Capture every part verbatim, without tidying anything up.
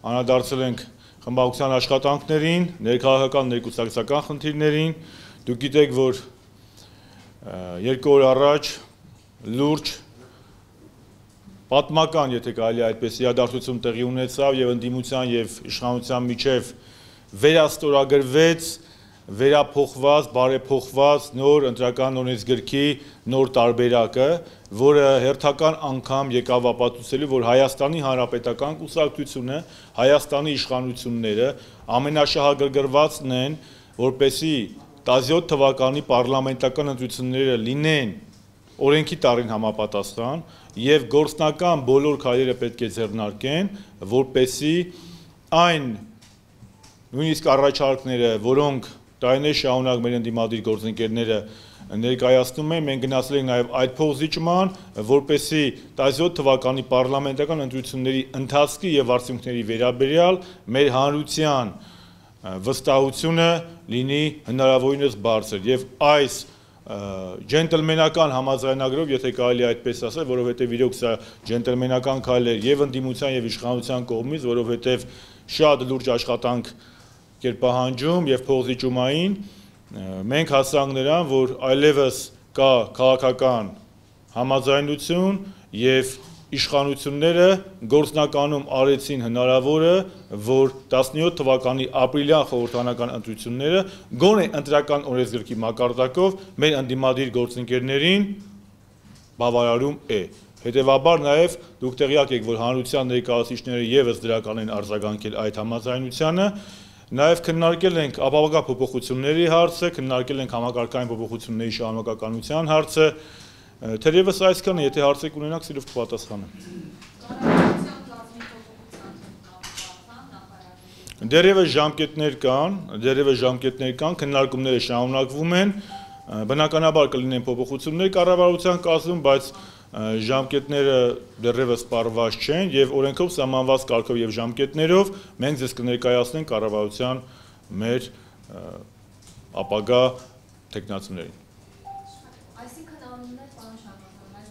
անդրադարձել ենք խմբակցության աշխատանքներին, ներքաղաքական ներկուսակցական խնդիրներին։ Դուք գիտեք, որ երկու օր առաջ լուրջ պատմական, եթե կարելի է այդպես իրադարձություն տեղի ունեցավ եւ ընդդիմության եւ իշխանության միջև վերաստորագրվեց վերափոխված, բարեփոխված նոր ընտրական օրենսգրքի նոր տարբերակը, որը հերթական անգամ եկավ ապացուցելու, որ Հայաստանի Հանրապետական կուսակցությունը, Հայաստանի իշխանությունները ամենաշահագրգռվածն են, որպեսզի տասնյոթ թվականի պարլամենտական ընտրությունները լինեն օրենքի տարին համապատասխան եւ գործնական բոլոր քայլերը պետք է ձեռնարկեն, որպեսզի այն նույնիսկ առաջարկները, որոնք տարիներ շարունակ մեր ընդդիմադիր գործընկերները ներկայացնում են, մենք գնացել ենք նաև այդ փոխզիջման, որպեսզի տասնյոթ թվականի պարլամենտական ընտրությունների ընթացքի եւ արդյունքների վերաբերյալ մեր հանրության վստահությունը լինի հնարավորինս բարձր եւ այս ջենտլմենական համաձայնագրով, եթե կարելի է այդպես ասել, որովհետեւ իրոք սա ջենտլմենական քայլ էր եւ ընդդիմության եւ իշխանության կողմից, որովհետեւ շատ լուրջ աշխատանք կերպահանջում եւ փոխզիջումային, մենք հասանք նրան, որ այլևս կա քաղաքական համաձայնություն եւ իշխանությունները գործնականում արեցին հնարավորը, որ տասնյոթ թվականի ապրիլյան խորհրդարանական ընտրությունները գոնե ընտրական օրենսգրքի մակարդակով մեր ընդդիմադիր գործընկերներին բավարարում է։ Հետևաբար նաև դուք տեղյակ եք, որ հանրության ներկայացուցիչները եւս դրական են արձագանքել այդ համաձայնությանը, նաև քննարկել ենք ապահովական փոփոխությունների հարցը, քննարկել ենք համակարգային փոփոխությունների շարունակականության հարցը, թերևս այսքանը, եթե հարցեր ունենաք, սիրով կպատասխանեմ։ Դեռևս ժամկետներ կան, դեռևս ժամկետներ կան, քննարկումները շարունակվում են, բնականաբար կլինեն փոփոխություններ կառավարության կազմում, բայց ժամկետները դեռևս պարզված չեն եւ օրենքով սահմանված կարգով եւ ժամկետներով մենք ձեզ կներկայացնենք կառավարության մեր ապագա տեխնացիներին։ Այսինքն անուններ պարոն Շարմազան,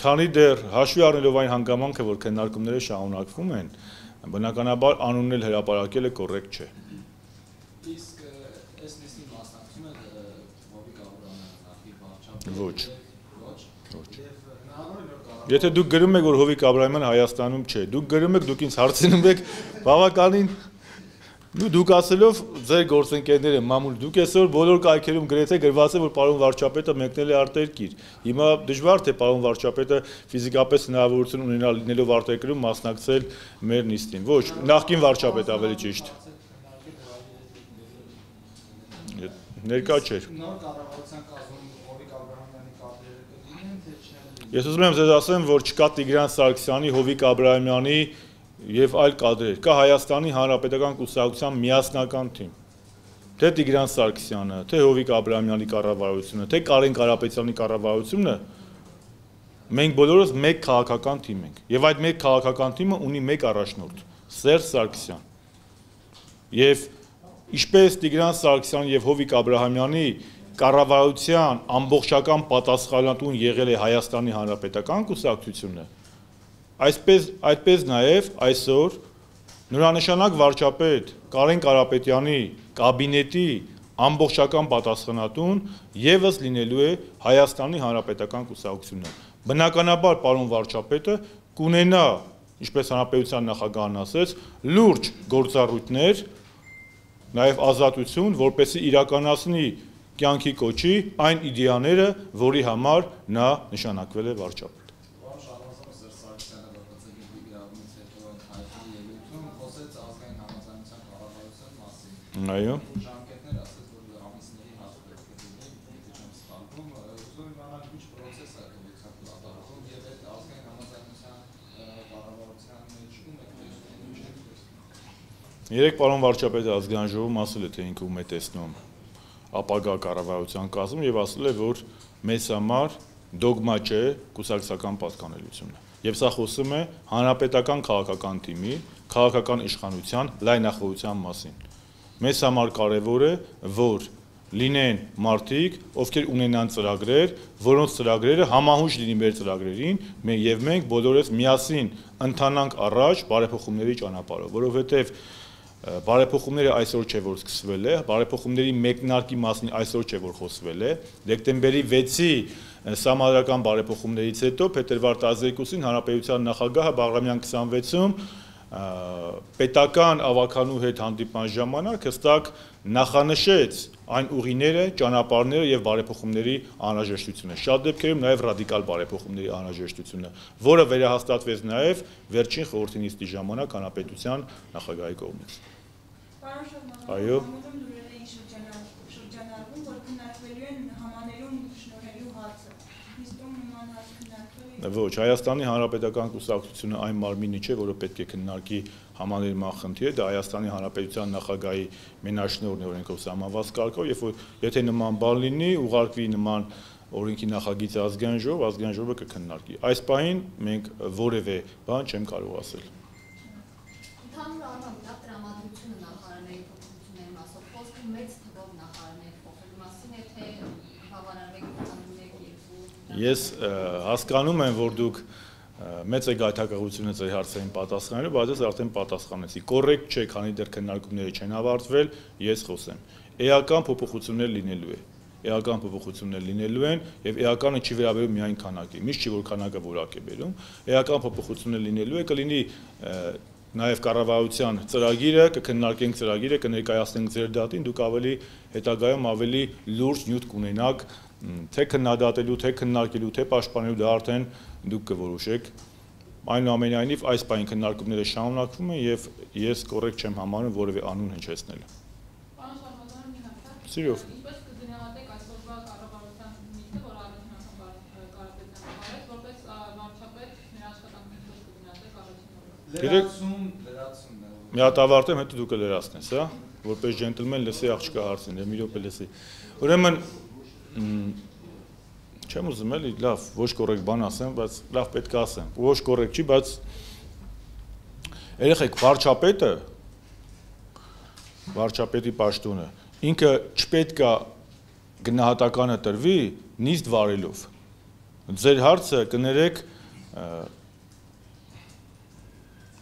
Քանի դեռ հաշվի առնելով այն հանգամանքը, որ քննարկումները շարունակվում են, բնականաբար անուններ հրապարակելը կոռեկտ չէ։ Իսկ այս նիստի մասնակցում է Հովիկ Աբրահամյանը նախի վարչապետ։ Ոչ։ Եթե դուք գրում եք, որ Հովիկ Աբրահամյանը Հայաստանում չէ, դուք գրում եք, դուք ինձ հարցնում եք, բավականին դուք ասելով ձեր գործընկերները մամուլ, դուք այսօր բոլոր կայքերում գրեթե գրված է, որ պարոն վարչապետը մեկնել է արտերկիր։ Հիմա դժվար թե պարոն վարչապետը ֆիզիկապես հնարավորություն ունենա լինելով արտերկրում մասնակցել մեր նիստին։ Ոչ, նախկին վարչապետ ավելի ճիշտ։ Ներկա չէր։ Նոր կառավարության կազմում Հովիկ Աբրահամյանի կադրերը կլինեն, թե չէ։ Ես ուզում եմ ձեզ ասեմ, որ չկա Տիգրան Սարգսյանի, Հովիկ Աբրահամյանի եւ այլ կադրեր, կա Հայաստանի Հանրապետական կուսակցության միասնական թիմ։ Թե Տիգրան Սարգսյանը, թե Հովիկ Աբրահամյանի կառավարությունը, թե Կարեն Կարապետյանի կառավարությունը, մենք բոլորս մեկ քաղաքական թիմ ենք։ Եվ այդ մեկ քաղաքական թիմը ունի մեկ առաջնորդ՝ Սերժ Սարգսյան։ Եվ ինչպես Տիգրան Սարգսյանի եւ Հովիկ Աբրահամյանի կառավարության ամբողջական պատասխանատուն եղել է Հայաստանի Հանրապետական կուսակցությունը, այսպես այդպես նաև այսօր նորանշանակ վարչապետ Կարեն Կարապետյանի կաբինետի ամբողջական պատասխանատուն եւս լինելու է Հայաստանի Հանրապետական կուսակցությունը։ Բնականաբար պարոն վարչապետը կունենա, ինչպես հանրապետության նախագահն ասեց, լուրջ գործառույթներ, նաև ազատություն, որպեսզի իրականացնի կյանքի կոչի այն իդեաները, որի համար նա նշանակվել է վարչապետ։ Պարոն Շարմազանը Սերժ Սարգսյանը ԲՊՑ-ի գրավումից հետո հայտնի ելույթում խոսեց ազգային համաձայնության կառավարության մասին։ Այո։ Ժամկետներ ասեց, որ ամիսների հաս պետք է լինի, եթե չեմ սխալվում, ուզում եմ իմանալ ինչ պրոցես է կողքով կատարվում եւ այդ ազգային համաձայնության կառավարության մեջ ում է տեսնում։ Երեք պարոն վարչապետը ազգային ժողովում ասել է, թե ինքը ում է տեսնում ապագա կառավարության կազմում եւ ասել է, որ մեզ համար դոգմա չէ կուսակցական պատկանելությունը։ Եվ սա խոսում է հանրապետական քաղաքական թիմի, քաղաքական իշխանության լայնախոհության մասին։ Մեզ համար կարևոր է, որ լինեն մարդիկ, ովքեր ունենան ծրագրեր, որոնց ծրագրերը համահունչ լինի մեր ծրագրերին, եւ մենք բոլորս միասին ընթանանք առաջ բարեփոխումների ճանապարհով, որովհետեւ բարեփոխումները այսօր չէ որ սկսվել է, բարեփոխումների մեկնարկի մասին այսօր չէ որ խոսվել է, դեկտեմբերի վեցի սահմանադրական բարեփոխումներից հետո փետրվար տասներկուսին Հանրապետության նախագահը Բաղրամյան քսանվեցում պետական ավականու հետ հանդիպման ժամանակ հստակ նախանշեց այն ուղիները, ճանապարհները եւ բարեփոխումների անհրաժեշտությունը։ Շատ դեպքերում նաեւ ռադիկալ բարեփոխումների անհրաժեշտությունը, որը վերահաստատվեց նաեւ վերջին խորհրդի նիստի ժամանակ Հանրապետության նախագահի կողմից։ Այո։ Ոչ, Հայաստանի Հանրապետական կուսակցությունը այն մարմինը չէ, որը պետք է քննարկի համաներման խնդիրը, դա Հայաստանի Հանրապետության նախագահի մենաշնորհն է օրենքով սահմանված կարգով, երբ որ եթե նման բան լինի, ուղարկվի նման օրենքի նախագիծը ազգային ժողով, ազգային ժողովը կքննարկի։ Այս պահին մենք որևէ բան չեմ կարող ասել։ Ընդհանուր առմամբ դա տրամադրությունը նախարարների փոփոխությունների մասով, խոսքը մեծ թվով նախարարների փոխելու մասին է, թե բավարարեք կանգնեք երկու։ Ես հասկանում եմ, որ դուք մեծ է գայթակղությունը ձեր հարցերին պատասխանելու, բայց ես արդեն պատասխանեցի։ Կոռեկտ չէ, քանի դեռ քննարկումները չեն ավարտվել, ես խոսեմ։ Էական փոփոխություններ լինելու է։ Էական փոփոխություններ լինելու են եւ էականը չի վերաբերում միայն քանակի, միշտ չի որ քանակը որակ է բերում։ Էական փոփոխություններ լինելու է, կլինի նաև կառավարության ծրագիրը, կքննարկենք ծրագիրը, կներկայացնենք ձեր դատին, դուք ավելի հետագայում ավելի լուրջ նյութ կունենաք, թե քննադատելու, թե քննարկելու, թե պաշտպանելու, դա արդեն դուք կորոշեք։ Այնուամենայնիվ այս պահին քննարկումները շարունակվում են եւ ես կոռեկտ չեմ համարում որևէ անուն հնչեցնել։ Պարոն Շարմազան, մի հարց։ Սիրով։ Ինչպես կգնահատեք այսօրվա կառավարության նիստը, որ Արարատյան Կարապետյանը որպես վարչապետ նրա աշխատանքին ինչպես կգնահատեք առաջին օրը։ Լրացում, լրացում։ Մի հատ ավարտեմ, հետո դուք կլրացնես, հա, որպես ջենտլմեն լսի աղջկա հարցին, մի րոպե լսի։ Ուրեմն չեմ ուզում էլի լավ, ոչ կոռեկտ բան ասեմ, բայց լավ պետք է ասեմ։ Ոչ կոռեկտ չի, բայց երեխեք վարչապետը, վարչապետի պաշտոնը, ինքը չպետք է գնահատականը տրվի նիստ վարելով։ Ձեր հարցը կներեք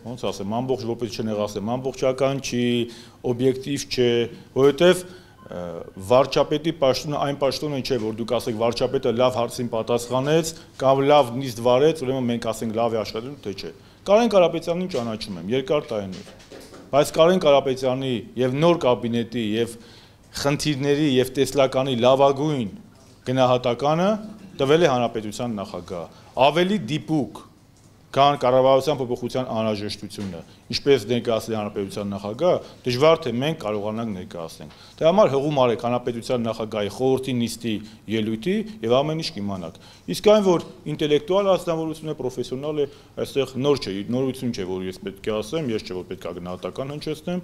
ոնց ասեմ, ամբողջ որպես չնեղասեմ, ամբողջական չի, օբյեկտիվ չէ, որովհետև վարչապետի պաշտոնը այն պաշտոնը չէ, որ դուք ասեք վարչապետը լավ հարցին պատասխանեց կամ լավ նիստ վարեց, ուրեմն մենք ասենք լավ է աշխատել, թե չէ։ Կարեն Կարապետյանին ճանաչում եմ երկար տարիներ, բայց Կարեն Կարապետյանի եւ նոր կաբինետի եւ խնդիրների եւ տեսլականի լավագույն գնահատականը տվել է Հանրապետության նախագահը։ Ավելի դիպուկ քան կառավարության փոփոխության անհրաժեշտությունը, ինչպես ներկայացրել Հանրապետության նախագահը, դժվար թե մենք կարողանանք ներկայացնենք։ Դրա համար հղում արեք Հանրապետության նախագահի խորհրդի նիստի ելույթի եւ ամեն ինչ կիմանաք։ Իսկ այն, որ ինտելեկտուալ ազնվորություն է, պրոֆեսիոնալ է, այստեղ նոր չէ, նորություն չէ, որ ես պետք է ասեմ, ես չէ որ պետք է գնահատական հնչեցնեմ,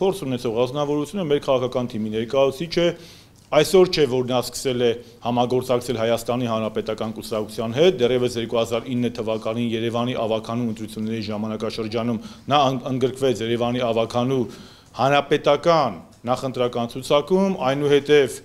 փորձ ունեցող ազնվորությունը մեր քաղաքական թիմի ներկայացուցիչ է։ Այսօր չէ, որ նա սկսել է համագործակցել Հայաստանի Հանրապետական կուսակցության հետ, դեռևս երկու հազար ինը թվականին Երևանի ավականու ընտրությունների ժամանակաշրջանում նա ընդգրկվեց Երևանի ավականու հանրապետական նախընտրական ցուցակում, այնուհետև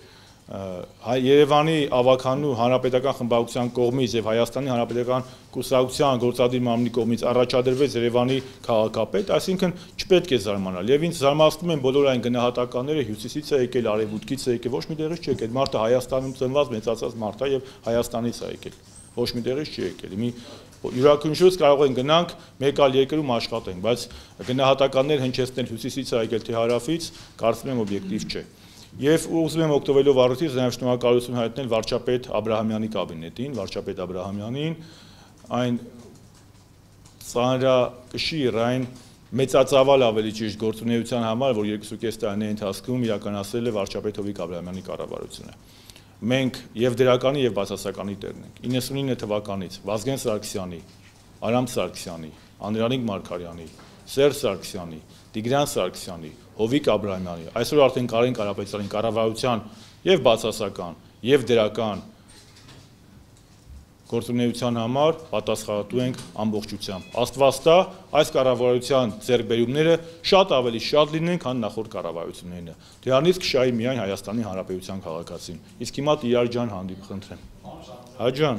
Երևանի ավականու հանրապետական խմբակցության կողմից եւ Հայաստանի Հանրապետական կուսակցության գործադիր մարմնի կողմից առաջադրվեց Երևանի քաղաքապետ, այսինքն չպետք է զարմանալ։ Եվ ինձ զարմացնում են բոլոր այն գնահատականները հյուսիսից է եկել, արևմուտքից է եկել, ոչ մի տեղից չի եկել։ Մարդը Հայաստանում ծնված, մեծացած մարդ է եւ Հայաստանից է եկել։ Ոչ մի տեղից չի եկել։ Մի յուրաքանչյուրս կարող են գնանք մեկ այլ երկրում աշխատենք, բայց գնահատականներ հնչեցնել հյուսիսից է եկել թե հարավից, կարծում եմ օբյեկտիվ չէ։ Եվ ուզում եմ օգտվելով առիթից նաև շնորհակալություն հայտնել վարչապետ Աբրահամյանի կաբինետին, վարչապետ Աբրահամյանին, այն ծանրակշիռ, այն մեծածավալ ավելի ճիշտ գործունեության համար, որ երկուսուկես տարիների ընթացքում իրականացրել է վարչապետ Հովիկ Աբրահամյանի կառավարությունը։ Մենք եւ դերականի եւ բացասականի տերն ենք։ իննսունինը թվականից Վազգեն Սարգսյանի, Արամ Սարգսյանի, Անդրանիկ Մարգարյանի, Սերժ Սարգսյանի, Տիգրան Սարգսյանի, Հովիկ Աբրահամյանի, այսօր արդեն Կարեն Կարապետյանի կառավարության եւ բացասական եւ դերական գործունեության համար պատասխանատու ենք ամբողջությամբ։ Աստված տա, այս կառավարության ձեռքբերումները շատ ավելի շատ լինեն, քան նախորդ կառավարությունները։ Դրանից կշահի միայն Հայաստանի Հանրապետության քաղաքացին։ Իսկ հիմա Տիրար ջան հանդիպ խնդրեմ։ Հա ջան։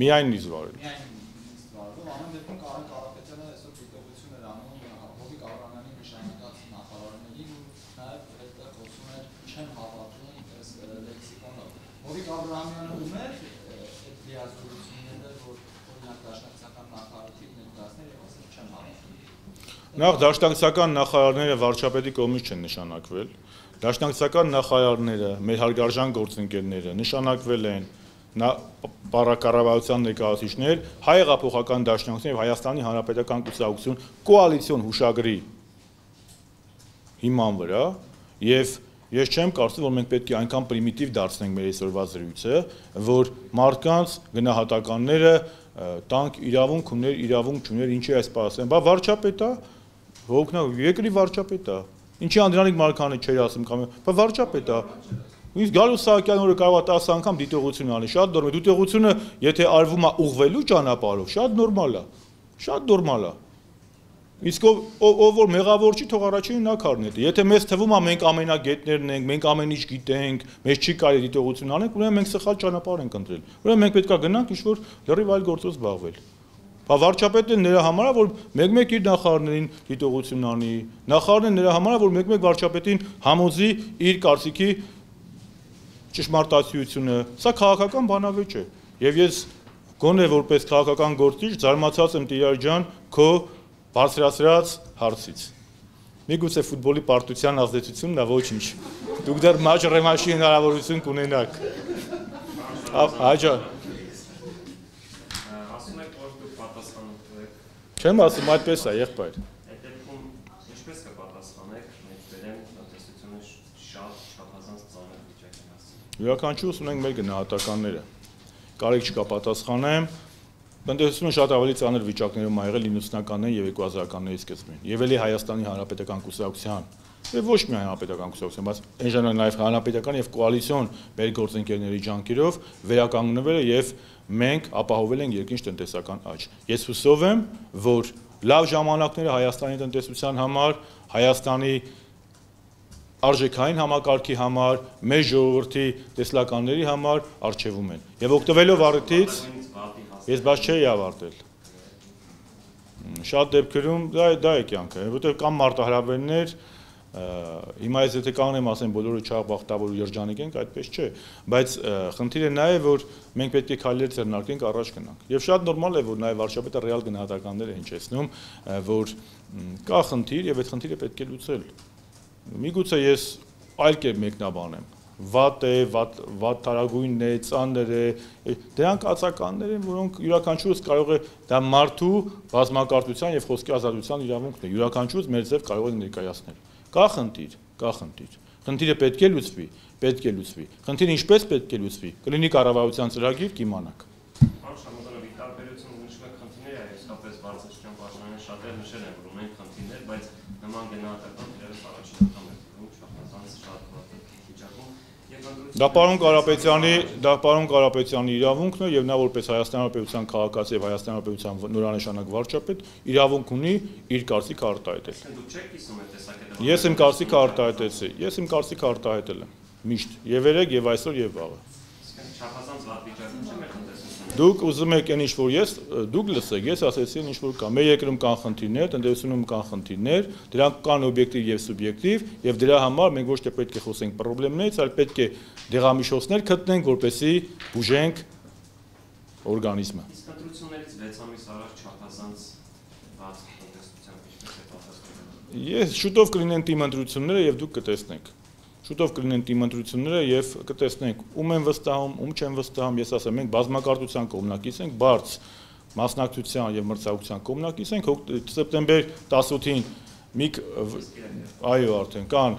Միայն նիստ վարել։ Հովիկ Աբրահամյանը ում էր այդ լիազորությունները, որ օրինակ դաշնակցական նախարարի ներկայացնել եւ ասել չեմ հավատում։ Նախ դաշնակցական նախարարները վարչապետի կողմից չեն նշանակվել։ Դաշնակցական նախարարները, մեր հարգարժան գործընկերները նշանակվել են պարակառավարության ներկայացուցիչներ, հայ հեղափոխական դաշնակցություն եւ Հայաստանի Հանրապետական կուսակցություն կոալիցիոն հուշագրի հիման վրա եւ Ես չեմ կարծում, որ մենք պետք է այնքան պրիմիտիվ դարձնենք մեր այսօրվա զրույցը, որ մարդկանց գնահատականները տանք իրավունք ուներ, իրավունք չուներ, ինչի այս պարասեն։ Բա վարչապետ է, հոգնա երկրի վարչապետ է։ Ինչի Անդրանիկ Մարկարյանը չէր ասում կամ, բա վարչապետ է։ Իսկ Գալուս Սահակյանը որը կարող է տասը անգամ դիտողություն անի, շատ նորմալ է։ Դիտողությունը, եթե արվում է ուղղվելու ճանապարհով, շատ նորմալ է։ Շատ նորմալ է։ Իսկ ով որ մեղավոր չի, թող առաջին նա քարնետի։ Եթե մեզ թվում է մենք ամենագետներն ենք, մենք ամեն ինչ գիտենք, մեզ չի կարելի դիտողություն անել, ուրեմն մենք սխալ ճանապարհ ենք ընտրել։ Ուրեմն մենք պետք է գնանք ինչ-որ լրիվ այլ գործով զբաղվել։ Բա վարչապետն նրա համար է, որ մեկ-մեկ իր նախարարներին դիտողություն անի, նախարարն նրա համար է, որ մեկ-մեկ վարչապետին համոզի իր կարծիքի ճշմարտացիությունը։ Սա քաղաքական բանավեճ է։ Եվ ես գոնե որպես քաղաքական գործիչ զարմացած եմ Տիրար ջան, քո բարձրացրած հարցից։ Միգուցե ֆուտբոլի պարտության ազդեցությունն է, ոչինչ։ Դուք դեռ մաչ ռեմաշի հնարավորություն կունենաք։ Հա ջան։ Ասում եք, որ դուք պատասխանատու եք։ Չեմ ասում, այդպես է, եղբայր։ Այդ դեպքում ինչպես կպատասխանեք, մենք վերեմ տնտեսությունը շատ չափազանց ծանր վիճակին հասցնել։ Յուրաքանչյուրս ունենք մեր գնահատականները։ Կարիք չկա պատասխանեմ։ Տնտեսությունը շատ ավելի ծանր վիճակներում ա եղել իննսունականների եւ երկու հազարականների սկզբին։ Եվ էլի Հայաստանի Հանրապետական կուսակցության եւ ոչ միայն Հանրապետական կուսակցության, բայց այն ժամանակ նաեւ Հանրապետական եւ կոալիցիոն մեր գործընկերների ջանքերով վերականգնվել է եւ մենք ապահովել ենք երկինչ տնտեսական աճ։ Ես հուսով եմ, որ լավ ժամանակները Հայաստանի տնտեսության համար, Հայաստանի արժեքային համակարգի համար, մեր ժողովրդի տեսլականների համար արժևում են։ Եվ օգտվելով առիթից ես բաց չէի ավարտել։ Շատ դեպքերում դա դա է կյանքը, որտեղ կամ մարտահրավերներ, հիմա ես եթե կանգնեմ ասեմ բոլորը չաղբախտավոր ու երջանիկ ենք, այդպես չէ, բայց խնդիրը նա է, որ մենք պետք է քայլեր ձեռնարկենք առաջ գնանք։ Եվ շատ նորմալ է, որ նաև վարչապետը ռեալ գնահատականներ է հնչեցնում, որ կա խնդիր եւ այդ խնդիրը պետք է լուծել։ Միգուցե ես այլ կերպ մեկնաբանեմ։ Վատ է, վատ թարագույնն է, ծանր է, դրանք ածականներ են, որոնք յուրաքանչյուրս կարող է դա մարդու բազմակարծության եւ խոսքի ազատության իրավունքն է, յուրաքանչյուրս մեր ձև կարող է ներկայացնել։ Կա խնդիր, կա խնդիր։ Խնդիրը պետք է լուծվի, պետք է լուծվի։ Խնդիրը ինչպես պետք է լուծվի, կլինի կառավարության ծրագիր, կիմանաք։ Պարոն Շամոդանովի տարբերությունը նշում եք խնդիրները, իսկապես բարձրացան պաշտոնյաները շատեր նշել են, որ ունեն խնդիրներ, բայց նման գնահատական դերս առաջին անգամ է դուրս շփոթված շատ վատ վիճակում։ Դա պարոն Կարապետյանի, դա պարոն Կարապետյանի իրավունքն է եւ նա որպես Հայաստանի Հանրապետության քաղաքացի եւ Հայաստանի Հանրապետության նորանշանակ վարչապետ իրավունք ունի իր կարծիքը արտահայտել։ Դուք չեք կիսում այդ տեսակետը։ Ես իմ կարծիքը արտահայտեցի, ես իմ կարծիքը արտահայտել եմ միշտ եւ երեք եւ այսօր եւ վաղը։ Չափազանց վատ վիճակում չէ մեր տնտեսությունը։ Դուք ուզում եք այն ինչ որ ես, դուք լսեք, ես ասեցի ինչ որ կա։ Մեր երկրում կան խնդիրներ, տնտեսությունում կան խնդիրներ, դրանք կան օբյեկտիվ եւ սուբյեկտիվ, եւ դրա համար մենք ոչ թե պետք է խոսենք խնդիրներից, այլ պետք է դեղամիջոցներ գտնենք, որպեսզի բուժենք օրգանիզմը։ Իսկ ընտրություններից վեց ամիս առաջ չափազանց վատ տնտեսության ինչպես է պատասխանում։ Ես շուտով կլինեն թիմ ընտրությունները եւ դուք կտեսնեք։ Շուտով կլինեն թիմ ընտրությունները եւ կտեսնենք ում են վստահում, ում չեն վստահում, ես ասեմ, մենք բազմակարծության կողմնակից ենք, բարձ մասնակցության եւ մրցակցության կողմնակից ենք, սեպտեմբեր տասնութին մի այո արդեն կան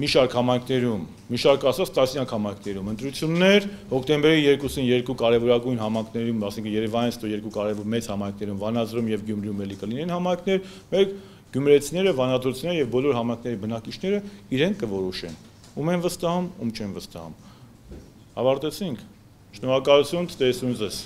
մի շարք համայնքներում, մի շարք ասած տասնյակ համայնքներում ընտրություններ, հոկտեմբերի երկուսին երկու կարևորագույն համայնքներում, ասենք Երևանից հետո երկու կարևոր մեծ համայնքներում, Վանաձորում եւ Գյումրիում էլի կլինեն համայնքներ, մեր Գյումրեցիները, վանաձորցիները եւ բոլոր համայնքների բնակիչները իրենք կորոշեն, ում են վստահում, ում չեն վստահում։ Ավարտեցինք։ Շնորհակալություն, տեսնուն ձեզ։